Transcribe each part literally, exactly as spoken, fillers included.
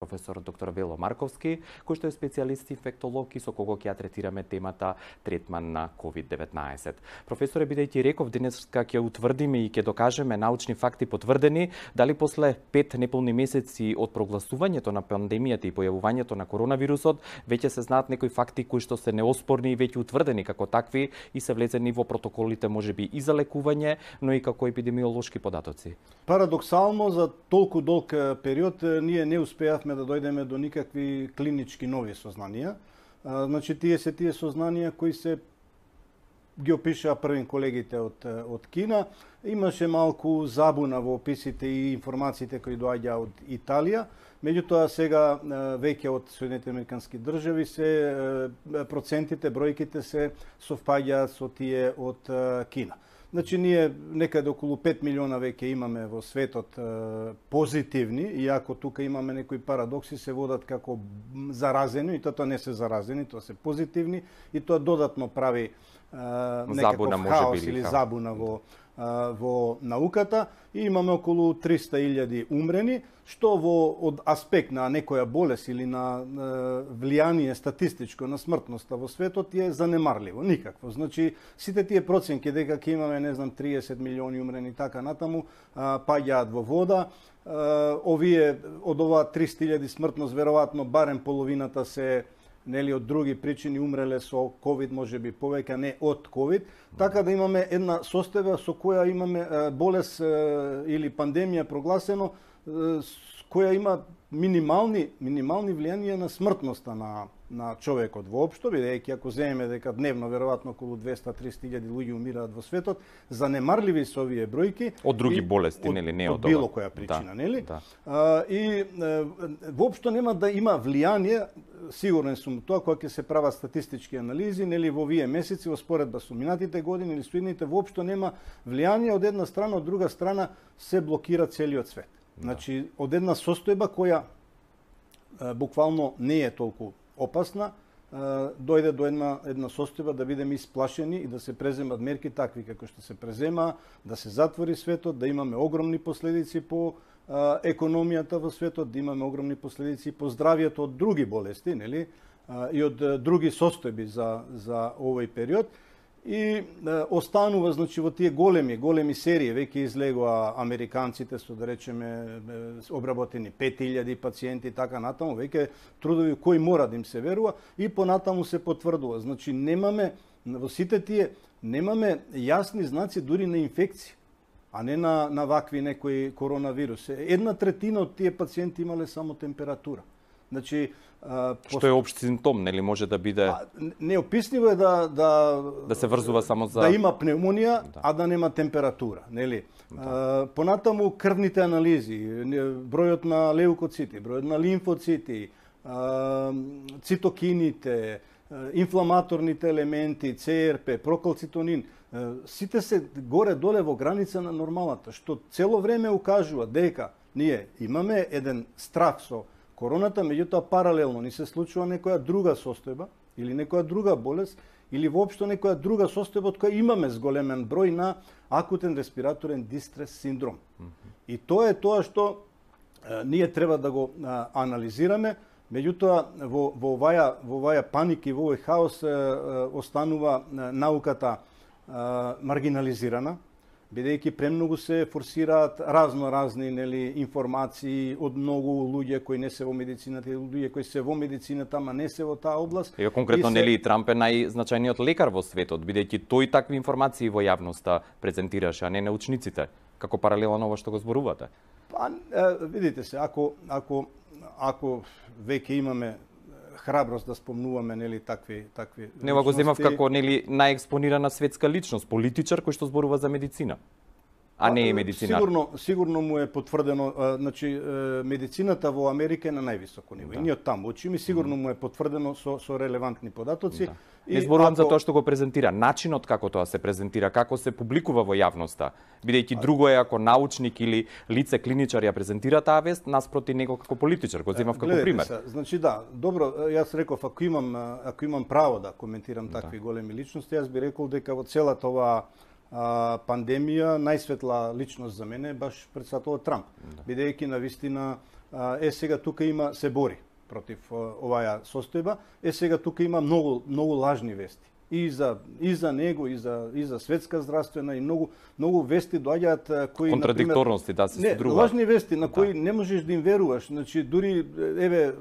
професор доктор Вело Марковски, кој што е специјалист инфектолог и со кого ќе ја третираме темата третман на ковид деветнаесет. Професоре, бидејќи реков денеска ќе утврдиме и ќе докажеме научни факти потврдени, дали после пет неполни месеци од прогласувањето на пандемијата и појавувањето на коронавирусот, веќе се знаат некои факти кои што се неоспорни и веќе утврдени како такви и се влезени во протоколите можеби и за лекување, но и како епидемиолошки податоци. Парадоксално, за толку долг период ние не успеавме да дојдеме до никакви клинички нови сознанија. Значи, тие се тие сознанија кои се ги опишаа првин колегите од, од Кина. Имаше малку забуна во описите и информациите кои доаѓа од Италија. Меѓутоа, сега веќе од Соединетите американски држави се процентите, бројките се совпаѓаат со тие од Кина. Значи, ние некаде околу пет милиона веќе имаме во светот е, позитивни, иако тука имаме некои парадокси, се водат како заразени, и тоа не се заразени, тоа се позитивни, и тоа додатно прави е, некаков хаос или забуна во, е, во науката. И имаме околу триста илјади умрени, што во од аспект на некоја болест или на е, влијание статистичко на смртноста во светот е занемарливо, никакво. Значи, сите тие проценки дека ќе имаме, не знам, триесет милиони умрени така натаму, паѓаат во вода. Овие од ова триста илјади смртност веројатно барем половината се нели од други причини умреле со ковид, можеби повеќе, не од ковид, така да имаме една состојба со која имаме болест или пандемија прогласено, која има минимални минимални влијанија на смртноста на на човекот воопшто, бидејќи ако земеме дека дневно веројатно околу двеста до триста илјади луѓе умираат во светот, занемарливи се овие бројки од други болести, нели, не од, од било која причина, да, нели? Да. А, и а, воопшто нема да има влијание, сигурен сум тоа кога ќе се прават статистички анализи, нели, во овие месеци во споредба со минатите години или со идните, воопшто нема влијание од една страна, од друга страна се блокира целиот свет. Значи, од една состојба која а, буквално не е толку опасна, а, дојде до една, една состојба да бидеме исплашени и да се преземат мерки такви како што се презема, да се затвори светот, да имаме огромни последици по а, економијата во светот, да имаме огромни последици по здравието од други болести, нели, а, и од а, други состојби за, за овој период. И а, останува, значи, во тие големи, големи серии, веќе излегоа американците со, да речеме, обработени пет илјади пациенти, така натаму, веќе трудови кои мора да им се верува, и понатаму се потврдува. Значи, немаме, во сите тие, немаме јасни знаци дури на инфекција, а не на, на вакви некои коронавирус. Една третина од тие пациенти имале само температура. Значи, а, што пост... е општ симптом, нели, може да биде... А, неописливо е да, да... Да се врзува само за... Да има пневмонија, да, а да нема температура, нели? Да. А, понатаму крвните анализи, бројот на леукоцити, бројот на лимфоцити, а, цитокините, инфламаторните елементи, Це Ер Пе, прокалцитонин, сите се горе-доле во граница на нормалата, што цело време укажува дека ние имаме еден страх со короната, меѓутоа паралелно ни се случува некоја друга состојба или некоја друга болест или воопшто некоја друга состојба од која имаме зголемен број на акутен респираторен дистрес синдром. Mm-hmm. И тоа е тоа што е, ние треба да го е, анализираме, меѓутоа во, во оваја во оваја паника и во овој хаос е, е, останува е, науката е, маргинализирана, бидејќи премногу се форсираат разно-разни, нели, информации од многу луѓе кои не се во медицината, и луѓе кои се во медицината, ама не се во таа област. Ево конкретно, се... нели, Трамп е најзначајниот лекар во светот, бидејќи тој такви информации во јавноста презентираше, а не научниците, како паралелно на ова што го зборувате. Па, видите се, ако ако ако веќе имаме храброст да спомнуваме, нели, такви такви Не го земав како, нели, најекспонирана светска личност, политичар кој што зборува за медицина, а не е медицинар. Сигурно, сигурно му е потврдено, а, значи медицината во Америка е на највисоко ниво. Да. И ние од таму учиме, сигурно му е потврдено со со релевантни податоци. Да. Не зборувам ако... за тоа што го презентира, начинот како тоа се презентира, како се публикува во јавноста. Бидејќи друго е ако научник или лице клиничар ја презентира таа вест наспроти него како политичар, го земав како пример. Се, значи да, добро, јас реков ако имам ако имам право да коментирам такви да. големи личности, јас би рекол дека во целата оваа а, пандемија најсветла личност за мене е баш председателот Трамп. Да. Бидејќи навистина е сега тука има се бори против оваа состојба, е сега тука има многу многу лажни вести. И за и за него и за и за светска здравствена и многу многу вести доаѓаат кои контрадикторности да се содруваат. Не, лажни вести на кои да. Не можеш да им веруваш. Значи дури еве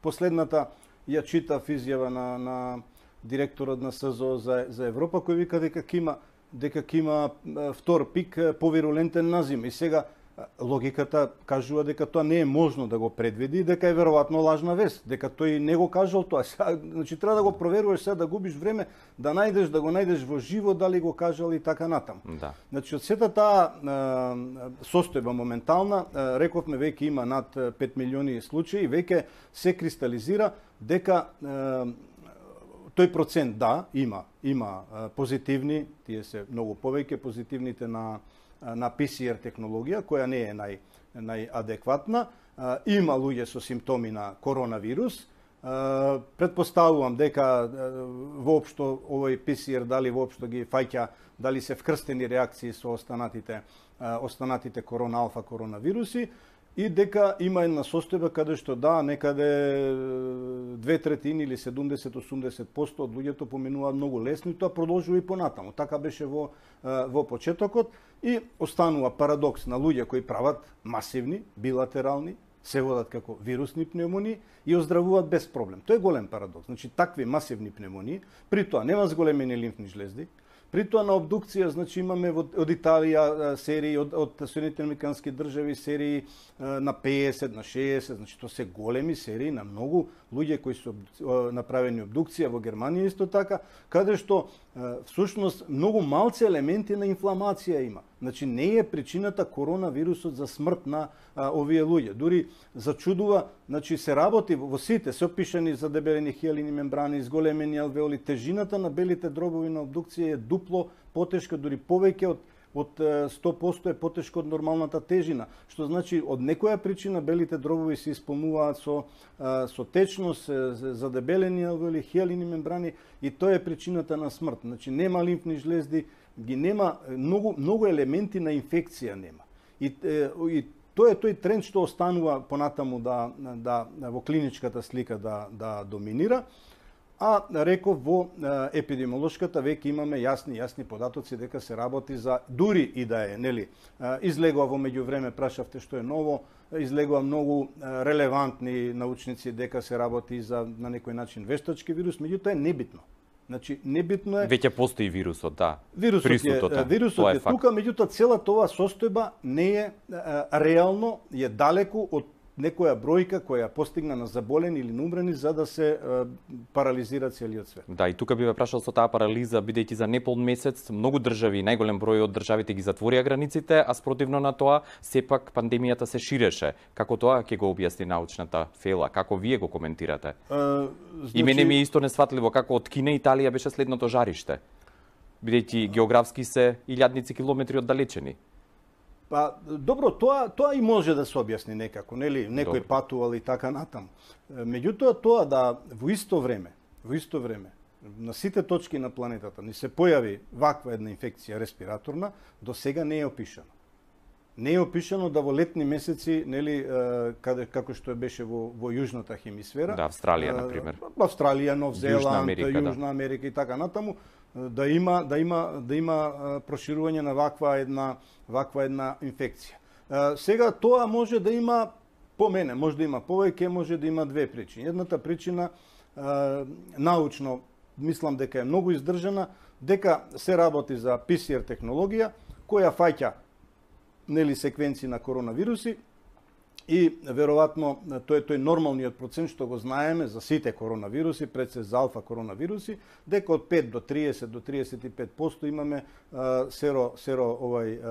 последната ја читав изјава на на директорот на СЗО за за Европа кој вика дека ќе има дека ќе има втор пик повирулентен на зима. И сега логиката кажува дека тоа не е можно да го предвиди, дека е веројатно лажна вест, дека тој не го кажал тоа. Значи треба да го проверуваш сега, да губиш време, да најдеш, да го најдеш во живо дали го кажал и така натаму. Да. Значи од сета таа состојба моментална, рековме веќе има над пет милиони случаи, веќе се кристализира дека тој процент да има има позитивни, тие се многу повеќе позитивните на на пи си ар технологија, која не е нај, најадекватна. Има луѓе со симптоми на коронавирус. Предпоставувам дека воопшто овој пи си ар дали воопшто ги фаќа, дали се вкрстени реакции со останатите, останатите корона алфа коронавируси, и дека има една состојба каде што да, некаде две третини или седумдесет до осумдесет проценти од луѓето поминуваат многу лесно и тоа продолжува и понатаму. Така беше во во почетокот и останува парадокс на луѓе кои прават масивни, билатерални, се водат како вирусни пневмонии и оздравуваат без проблем. Тоа е голем парадокс. Значи такви масивни пневмонии, при тоа нема зголемени лимфни жлезди. При тоа на обдукција, значи имаме од Италија серии, од, од Соединетите американски држави серии на педесет, на шеесет, значи тоа се големи серии на многу луѓе кои се направени обдукција, во Германија исто така, каде што всушност многу малци елементи на инфламација има. Значи не е причината коронавирусот за смрт на а, овие луѓе. Дури зачудува, значи се работи во сите, се опишани задебелени хиалини мембрани, зголемени алвеоли, тежината на белите дробови на обдукција е дупло потешка, дури повеќе од од сто проценти е потешко од нормалната тежина, што значи од некоја причина белите дробови се исполнуваат со со течност, задебелени алвеоли, хиалини мембрани и тоа е причината на смрт. Значи нема лимфни жлезди, ги нема многу многу елементи на инфекција нема. И, и тоа е тој тренд што останува понатаму да да во клиничката слика да да доминира. А реков во епидемиолошката веќе имаме јасни јасни податоци дека се работи за дури и да е, нели, излегува во меѓувреме, прашавте што е ново, излегува многу релевантни научници дека се работи за на некој начин вештачки вирус, меѓутоа е небитно. Значи небитно е. Веќе постои вирусот, да. Вирусот е, вирусот е, е тука, меѓутоа целата оваа состојба не е реално, е далеку од некоја бројка која постигна на заболени или на умрени за да се е, парализира целиот свет. Да, и тука би ве прашал со таа парализа, бидејќи за непол месец многу држави, најголем број од државите ги затворија границите, а спротивно на тоа сепак пандемијата се ширеше. Како тоа ќе го објасни научната фела? Како вие го коментирате? Uh, значи... И мене ми е исто несфатливо како од Кина Италија беше следното жариште, бидејќи географски се илјадници километри оддалечени. Па, добро, тоа тоа и може да се објасни некако, нели, некој добро. Патувал и така натаму. Меѓутоа тоа да во исто време, во исто време на сите точки на планетата ни се појави ваква една инфекција респираторна, до сега не е опишано. Не е опишано да во летни месеци, нели, каде како што беше во во јужната хемисфера, да, Австралија на пример. Австралија, Нов Зеланд, Јужна Америка, Јужна да. Америка и така натаму, да има да има да има проширување на ваква една ваква една инфекција. Сега тоа може да има, по мене, може да има повеќе, може да има две причини. Едната причина научно мислам дека е многу издржана, дека се работи за пи си ар технологија која фаќа нели секвенции на коронавируси и веројатно тоа е тој нормалниот процент што го знаеме за сите коронавируси, пред се за алфа коронавируси, дека од пет до триесет до триесет и пет проценти имаме а, серо серо овај а,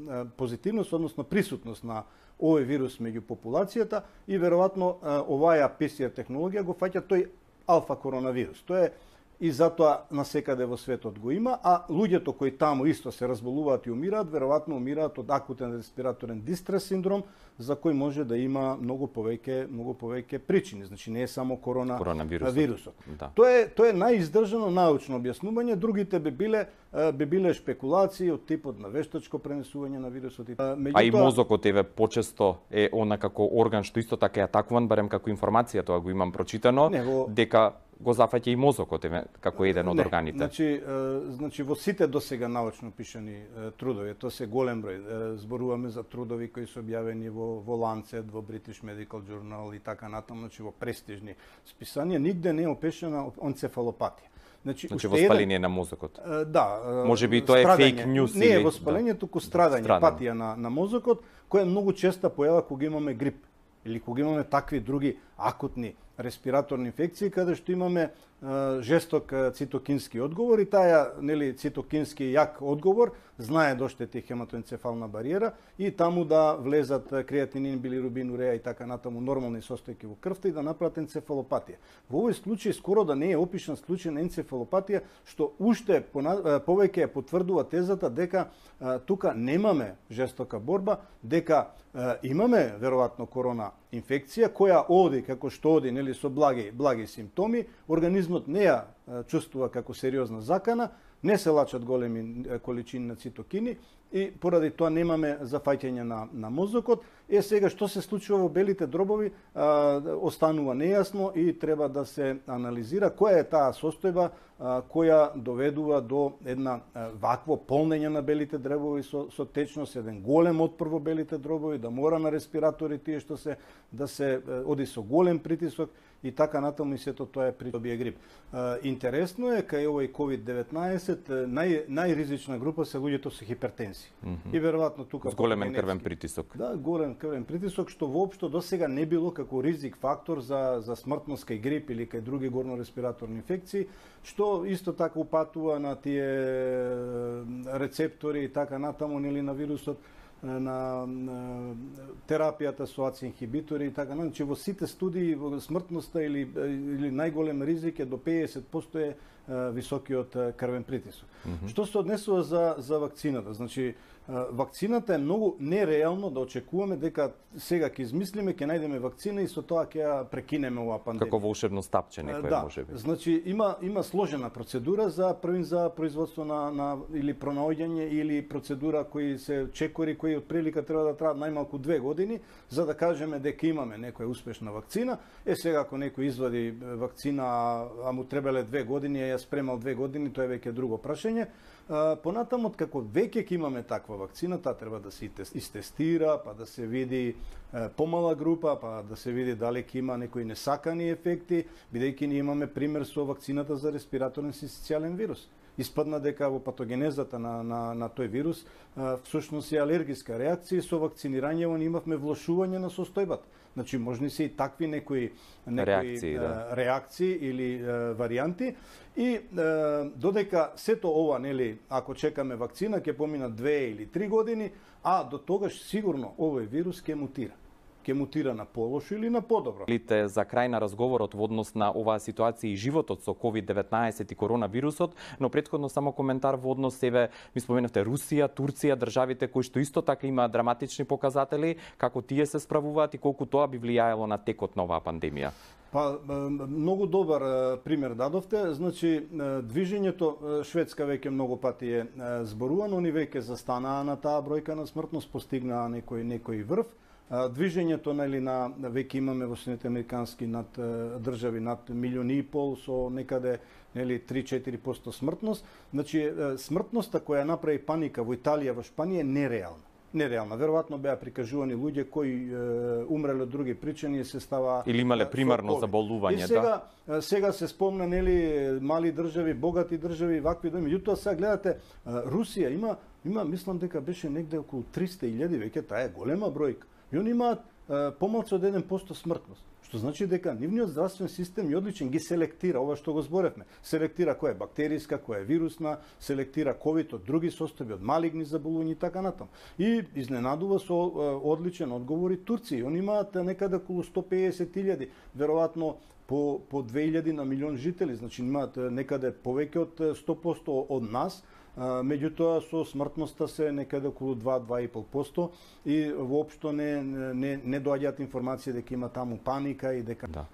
а, позитивност, односно присутност на овој вирус меѓу популацијата и веројатно оваа пи си ар технологија го фаќа тој алфа коронавирус. Тоа е и затоа насекаде во светот го има, а луѓето кои таму исто се разболуваат и умираат, веројатно умираат од акутен респираторен дистрес синдром, за кој може да има многу повеќе многу повеќе причини. Значи не е само корона коронавирусот. Вирусот. Да. Тоа е тоа е најиздржано научно објаснување, другите би биле би биле шпекулации од типот на вештачко пренесување на вирусот. Меѓутоа... А и мозокот еве почесто е она како орган што исто така е атакуван, барем како информација тоа го имам прочитано, не, во... дека го зафаќа и мозокот еве како еден од не, органите. Значи, значи во сите досега научно пишани трудови, тоа се голем број. Зборуваме за трудови кои се објавени во во Lancet, во British Medical Journal и така натаму, значи во престижни списанија, нигде не е опишана енцефалопатија. Значи, значи воспаление еден... на мозокот. Да. Може би тоа е фейк ньюс или... Не е воспаление, да. туку страдање, страдање, патија на, на мозокот, која многу често појава кога имаме грип или кога имаме такви други акутни респираторни инфекции, каде што имаме е, жесток цитокински одговор и таа нели цитокински јак одговор знае да оштети хематоенцефална бариера и таму да влезат креатинин, билирубин, уреа и така натаму нормални состојки во крвта и да направат енцефалопатија. Во овој случај скоро да не е опишан случај на енцефалопатија, што уште повеќе потврдува тезата дека а, тука немаме жестока борба, дека а, имаме веројатно корона инфекција која оди како што оди, нели со благи благи симптоми, организмот не ја чувствува како сериозна закана, не се лачат големи количини на цитокини и поради тоа немаме зафаќање на, на мозокот. Е сега што се случува во белите дробови а, останува нејасно и треба да се анализира која е таа состојба а, која доведува до една а, вакво полнење на белите дребови со, со течност, еден голем отпор во белите дробови, да мора на респиратори тие што се да се оди со голем притисок и така натаму и сето тоа е при добие грип. А, интересно е кај овој ковид деветнаесет нај најризична група се луѓето со хипертензија. Mm -hmm. И веројатно тука с големен крвен притисок. Да, голем крвен притисок што воопшто досега не било како ризик фактор за за смртност кај грип или кај други горнореспираторни инфекции, што исто така упатува на тие рецептори и така натаму нели на вирусот, на, на терапијата со АЦЕ инхибитори и така натаму. Значи во сите студии во смртноста или или најголем ризик е до педесет проценти е високиот крвен притисок. Mm -hmm. Што се однесува за за вакцината? Значи вакцината е многу нереално да очекуваме дека сега ќе измислиме, ќе најдеме вакцина и со тоа ќе ја прекинеме оваа пандемија. Како волшебно стапче некој да, може би. Значи има има сложена процедура за првин за производство на на или пронаоѓање или процедура кои се чекори кои отприлика треба да траат најмалку две години за да кажеме дека имаме некоја успешна вакцина. Е сега ако некој извади вакцина, а му требале две години, ја спремал две години, тоа е веќе друго прашање. Понатаму, како веќе ќе имаме таква вакцина, таа треба да се истестира, па да се види е, помала група, па да се види дали ќе има некои несакани ефекти, бидејќи ние имаме пример со вакцината за респираторен синцитијален вирус. Испадна дека во патогенезата на, на, на тој вирус а, всушност е алергиска реакција и со вакцинирање имавме влошување на состојбата. Значи можни се и такви некои, некои реакции, а, да. реакции или а, варијанти и а, додека сето ова, нели, ако чекаме вакцина ќе поминат две или три години, а до тогаш сигурно овој вирус ќе мутира. Ќе мутира на полошо или на подобро. За крај на разговорот во однос на оваа ситуација и животот со ковид деветнаесет и коронавирусот, но претходно само коментар во однос себе, ми споменавте Русија, Турција, државите кои што исто така имаат драматични показатели, како тие се справуваат и колку тоа би влијаело на текот на оваа пандемија. Па, многу добар пример дадовте. Значи, движењето, Шведска веќе многу пати е зборувано, они веќе застанаа на таа бројка на смртност, постигнаа некој, некој врв. Движењето нели на веќе имаме во Соединетите американски над држави над милион и пол со некаде нели три до четири проценти смртност. Значи смртноста која направи паника во Италија, во Шпанија е нереална. Нереална. Веројатно беа прикажувани луѓе кои е, умреле од други причини и се става или имале примарно заболување, и сега, да. Сега се спомна нели мали држави, богати држави, вакви доми. Меѓутоа сега гледате Русија има има мислам дека беше негде околу триста илјади, веќе таа е голема бројка. И они имаат помалку од еден процент смртност. Што значи дека нивниот здравствен систем е одличен, ги селектира, ова што го зборевме. Селектира која е бактериска, која е вирусна, селектира ковид од други состојби, од малигни заболувања и така натаму. И изненадува со одличен одговор и Турција. Они имаат некаде околу сто педесет илјади, веројатно по по две илјади на милион жители, значи имаат некаде повеќе од сто проценти од нас. Меѓутоа со смртноста се некаде околу два до два и пол проценти и воопшто не не не доаѓаат информации дека има таму паника и дека да.